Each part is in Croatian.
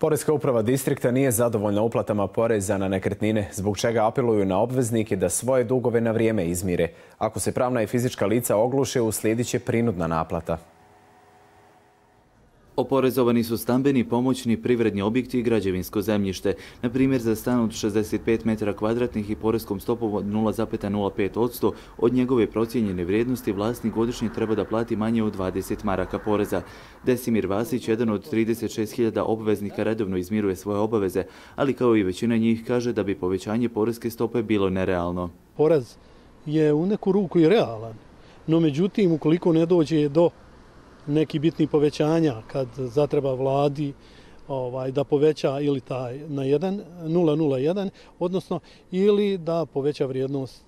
Poreska uprava distrikta nije zadovoljna uplatama poreza na nekretnine, zbog čega apeluju na obveznike da svoje dugove na vrijeme izmire. Ako se pravna i fizička lica ogluše, uslijedit će prinudna naplata. Oporezovani su stambeni, pomoćni, privredni objekti i građevinsko zemljište. Na primjer, za stan od 65 metara kvadratnih i poreskom stopom od 0,05% od njegove procijenjene vrijednosti vlasnik godišnje treba da plati manje od 20 maraka poreza. Desimir Vasić, jedan od 36.000 obveznika, redovno izmiruje svoje obaveze, ali kao i većina njih kaže da bi povećanje poreske stope bilo nerealno. Porez je u neku ruku i realan, no međutim, ukoliko ne dođe do neki bitni povećanja kad zatreba vladi da poveća ili taj na 0,01, odnosno ili da poveća vrijednost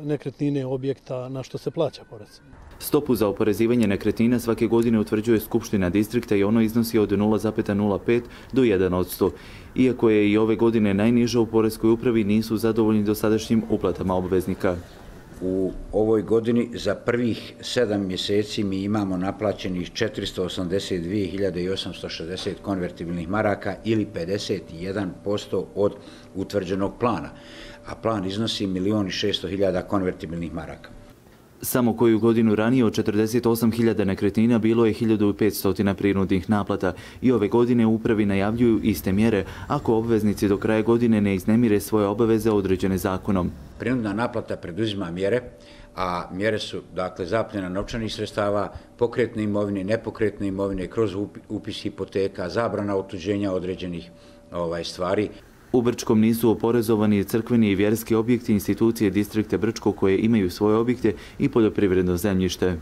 nekretnine objekta na što se plaća porez. Stopu za oporezivanje nekretnina svake godine utvrđuje Skupština distrikta i ono iznosi od 0,05 do 1%. Iako je i ove godine najniža, u poreskoj upravi nisu zadovoljni dosadašnjim uplatama obveznika. U ovoj godini za prvih 7 mjeseci mi imamo naplaćenih 482.860 konvertibilnih maraka ili 51% od utvrđenog plana, a plan iznosi 1.600.000 konvertibilnih maraka. Samo koju godinu ranije od 48.000 nekretnina bilo je 1.500 prinudnih naplata i ove godine upravi najavljuju iste mjere ako obveznici do kraja godine ne iznemire svoje obaveze određene zakonom. Prinudna naplata preduzima mjere, a mjere su dakle zapljena novčanih sredstava, pokretne imovine, nepokretne imovine, kroz upis hipoteka, zabrana otuđenja određenih stvari. U Brčkom nisu oporezovani crkveni i vjerski objekti institucije distrikta Brčko koje imaju svoje objekte i poljoprivredno zemljište.